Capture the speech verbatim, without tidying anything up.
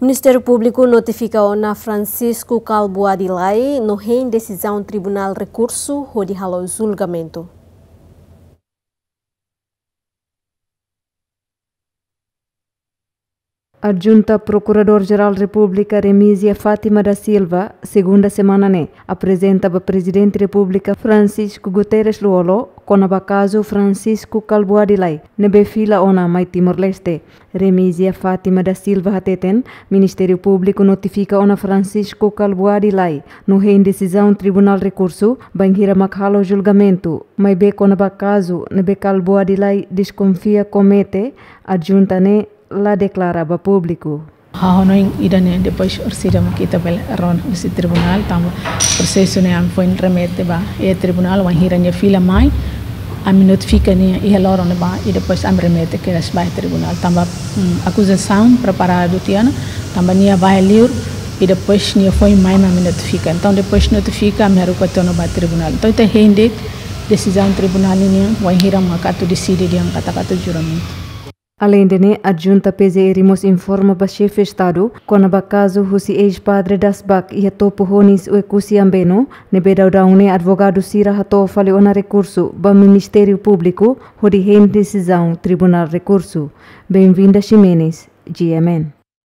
Ministériu Públiku notifika ona Francisco Calbuadi Lay no hein desizaun Tribunál Rekursu hodi halo julgamentu. Adjunta Prokuradór-Jerál Repúblika Remízia Fátima da Silva, segunda semana ne'e, aprezenta ba Prezidente Repúblika Francisco Guterres Lú-Olo kona-ba kazu Francisco Calbuadi Lay ne'ebé fila ona mai Timor-Leste. Remízia Fátima da Silva hateten, Ministériu Públiku notifika ona Francisco Calbuadi Lay no hein desizaun Tribunál Rekursu bainhira mak halo julgamentu, maibé kona-ba kazu ne'ebé Calbuadi Lay deskonfia komete, adjunta ne'e la deklara ba públiku. Ha'u hanoin ida-ne'e depois orsida mak ita bele rona husi tribunál, tanba prosesu ne'e ami foin remete ba iha tribunál, wainhira nia fila mai, ami notifika nia iha loron ne'ebá, i depois ami remete kedas ba iha tribunál. Tanba, mm, akuzasaun preparadu tiha ona, tanba nia bá iha liur, i depois nia foin mai mak ami notifika. Entaun, depois notifika, ami haruka tiha ona ba tribunál. Entaun, ita hein de'it desizaun tribunál nian, wainhira mak atu deside dehan katak atu julgamentu. Aleinde ne'e, Adjunta P G R mós informa ba Xefe Estadu kona-ba kazu husi eis-padre Dasbak iha Topo Honis, Oekusi Ambeno, ne'ebé daudaun ne'e advogadu sira hato'o fali ona rekursu ba Ministériu Públiku hodi hein desizaun Tribunál Rekursu. Benvinda Ximenes, G M N.